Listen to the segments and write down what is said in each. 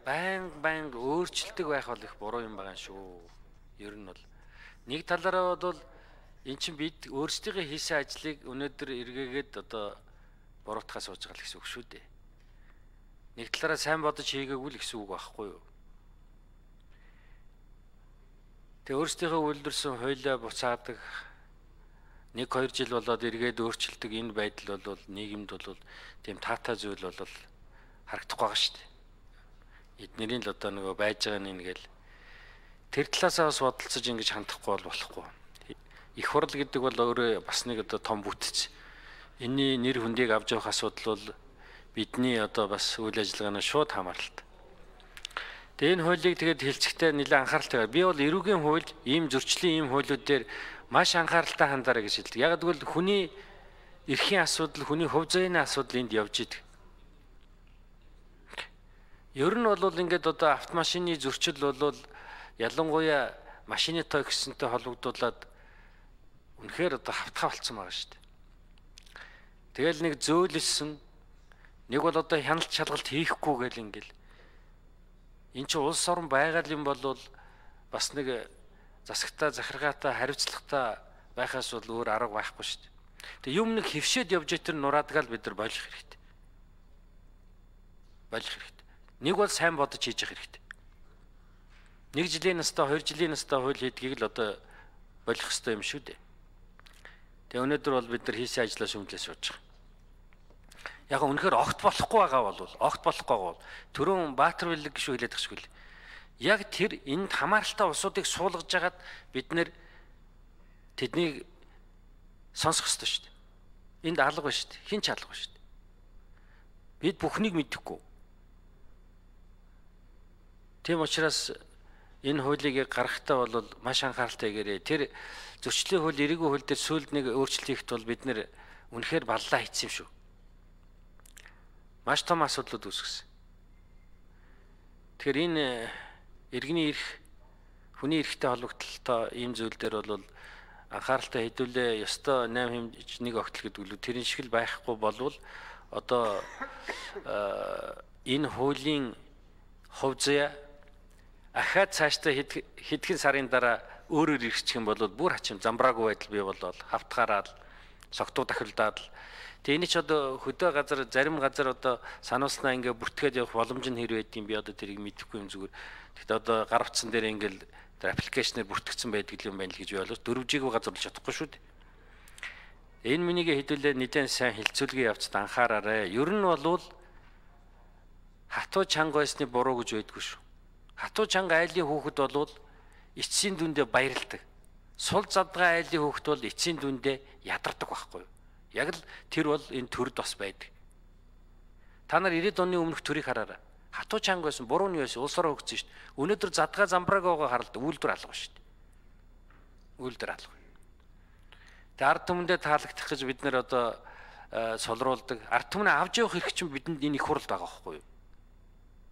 байнга өөрчлөлтөг байх бол их буруу юм байгаа шүү. Ер нь бол нэг талаараа бол эн чинь бид өөрсдийнхөө хийсэн ажлыг өнөөдөр эргээгээд одоо буруутгах сууж байгаа л гэсэн үг шүү дээ. Нэг талаараа сайн бодож хийгээгүй л гэсэн үг байхгүй юу? Тэгээ өөрсдийнхөө үйлдвэрсэн хуулиа буцаадаг 1-2 жил болоод эргээд өөрчлөлтөг энэ байдал бол нийгэмд бол тийм таатай зүйл бол харагдахгүй байгаа шүү дээ. Эднэрийн л одоо нөгөө байж байгаа нэгэл тэр талаасаа бас бодолцож ингэж хандахгүй болохгүй. Их хурл гэдэг бол өөрөө бас нэг одоо том бүтц. Энийний нэр хүндийг авч явах асуудал бол бидний одоо бас үйл ажиллагааны шууд хамааралтай. Тэгээ энэ хуулийг тэгээд хэлцэхдээ нэлээд анхааралтай. Би бол эрүүгийн хууль, ийм зөрчлийн ийм хуулиуд дээр маш анхааралтай хандаарай гэж хэлдэг. Яг гэвэл хүний эрхийн асуудал, хүний хувь заяаны асуудал энд явж идэг. Ер нь бол ингээд одоо автомашины зөрчил бол ялангуяа машины тоо гэсэнтэй холбогдуулаад үнэхээр одоо хавтгай болцсон байгаа шүү дээ. Тэгэл нэг зөөлөлсөн нэг бол одоо хяналт шалгалт хийхгүй гэл ингээл энэ чинь улс орон байгаль юм бол бас нэг засагтаа захиргаатай хариуцлагатай байхаас бол өөр арга байхгүй шүү дээ. Тэгээ юм нэг хөвшөөд явж байгаа тэр нураадгаал бид нар болох хэрэгтэй. Болох хэрэгтэй. Нэг бол сайн бодож хийж явах хэрэгтэй. 1 жилийн настай 2 жилийн настай хууль хийдгийг л одоо болох хэрэгтэй юм шүү дээ. Тэгээ өнөөдөр бол бид нар хийсэн ажлаа шүүмжлээ сууж байгаа. Яг үнэхээр огт болохгүй байгаа бол огт болохгүй бол түрүүн Баатар Билэг гişүү хэлээд тахшгүй л. Яг тэр энд хамааралтай улсуудыг суулгаж хагаад бид нэр тэднийг сонсох ёстой шүү дээ. Энд алга ба шүү дээ. Хин ч алга ба шүү дээ. Бид бүхнийг мэдэхгүй. Тийм учраас энэ хуулийг гаргахтаа бол маш анхааралтай гэрээ. Тэр зөрчлийн хууль, эрүүгийн хууль дээр сүүлд нэг өөрчлөлт хийхэд бол бид нэр үнэхээр баллаа хийсэн юм шүү. Маш том асуудлууд үүсгэсэн. Тэгэхээр энэ иргэний эрх, хүний эрхтэй холбогдлолтой ийм зүйл дээр бол анхааралтай хэдүүлээ ёстой 8 хэмж нэг огтл гэдэг үл тэрэн шиг л байхгүй болвол одоо энэ хуулийн хувь заяа ахаад цаашдаа хэдхэн сарын дараа өөрөөр ирчих юм бол бүр хачим замбраагүй байдал бий болол хавтгаараад согтуу дахилдаад л тэгээ энэ ч одоо хөдөө газар зарим газар одоо сануулснаа ингээ бүртгээд явах боломж нь хэр байдгийг би одоо тэрийг мэдэхгүй юм зүгээр. Тэгэхдээ одоо гар утсан дээр ингээл тэр аппликейшнээр бүртгэгдсэн байдаг юм байна л гэж боолоо 4G-г газар болж чадахгүй шүү дээ. Энэ минийг хэдүүлээ нэгэн сайн хилцүүлгээ явцад анхаараарай. Ер нь бол хатуу чанга байсны буруу гэж байдгүй шүү. Хатуу чанга айлын хүүхэд бол эцсийн дүндээ баярладаг. Сул задгаа айлын хүүхэд бол эцсийн дүндээ ядардаг байхгүй юу? Яг л тэр бол энэ төрд бас байдаг. Та нар 90-ад оны өмнөх төрийг хараарай. Хатуу чанга байсан, буруу нь байсан, улс ороо хөгжсөн шүү дээ. Өнөөдөр задгаа замбрааг харалт үйлдвэр алга шүү дээ. Үйлдвэр алга. Тэгээ ард түмэндээ таалагдах гэж бид нэр одоо солируулдаг. Ард түмнээ авч явах хэрэг чинь бидэнд энэ их хурл байгаа байхгүй юу?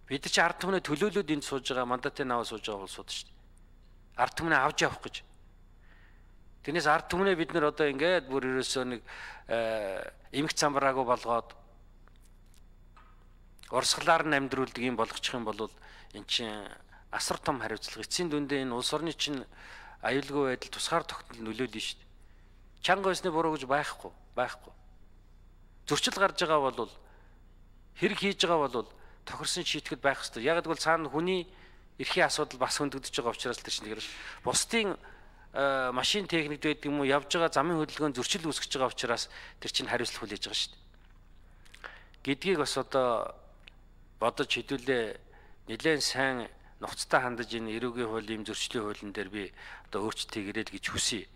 Бид чи ард түмнээ төлөөлөөд энд сууж байгаа мандатын аваа сууж байгаа улсууд шүү дээ. Ард түмнээ авч явах гэж. Тэрнээс ард түмнээ бид нэр одоо ингээд бүр ерөөсөө нэг эмх замбраагүй болгоод урсгалаар нь амьдруулдаг юм болгочих юм бол эн чинь асар том хариуцлага. Эцсийн дүндээ энэ улс орны чинь аюулгүй байдал тусгаар тогтнол нөлөөлнө шүү дээ. Чанга байсны буруу гэж байхгүй. Зөрчил гарч байгаа бол хэрэг хийж байгаа бол тохирсон шийтгэл байх хэрэгтэй. Яг гэвэл цаана хүний эрхийн асуудал бас хөндөгдөж байгаа учраас тэр чинь тэгэхээр бусдын машин техникд байдаг юм уу явж байгаа замын хөдөлгөөнд зөрчил үүсгэж байгаа учраас тэр чинь хариуцлага хүлээж байгаа шүү дээ. Гэдгийг бас одоо бодож хэдүүлээ нэлээд сайн нухацтай хандаж энэ эрүүгийн хуулийн зөрчлийн хуулийн дээр би одоо өөрчлөлт хийгэрэй гэж хүсье.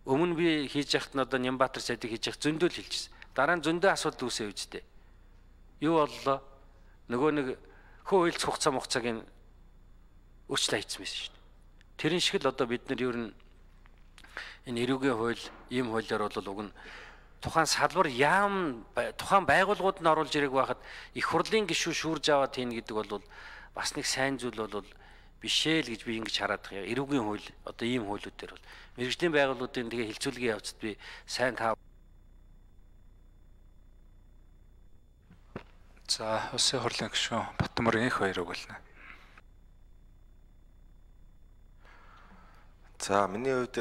Өмнө би хийж яхад нь одоо Нямбатар сайдыг хийж явах зөндөө л хэлчихсэн. Дараа нь зөндөө асуудал үүсээ үжтэй. Юу боллоо? Нөгөө нэг хөө хилцэх хугацааг нь өөрчлөлт хийсэн байсан шүү дээ. Тэрэн шиг л одоо бид нар ер нь энэ эрүүгийн хууль, ийм хуулиар бол уг нь тухайн салбар тухайн байгууллагууд нь оруулж ирэх байхад их хурлын гишүүн шүүрж аваад хийн гэдэг бол бас нэг сайн зүйл бол бишээ л гэж би ингэж хараад байгаа. Эрүүгийн хууль одоо ийм хуулиуд дээр бол мэргэжлийн байгууллагуудын тэгээ хилцүүлгийн явцад би сайн таа. За улсын хурлын гишүүн Батмөр инх баяр өгүүлнэ. За миний хувьд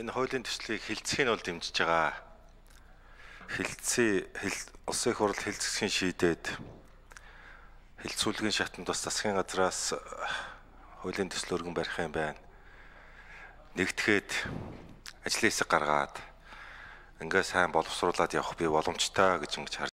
энэ хуулийн төслийг хэлцэх нь бол дэмжиж байгаа. Улсын их хурл хэлцэхин шийдээд хэлцүүлгийн шатанд бас засгийн газраас хуулийн төсөл өргөн барих юм байна. Нэгтгэхэд ажлын хэсэг гаргаад ингээ сайн боловсруулад явах би боломжтой гэж ингэж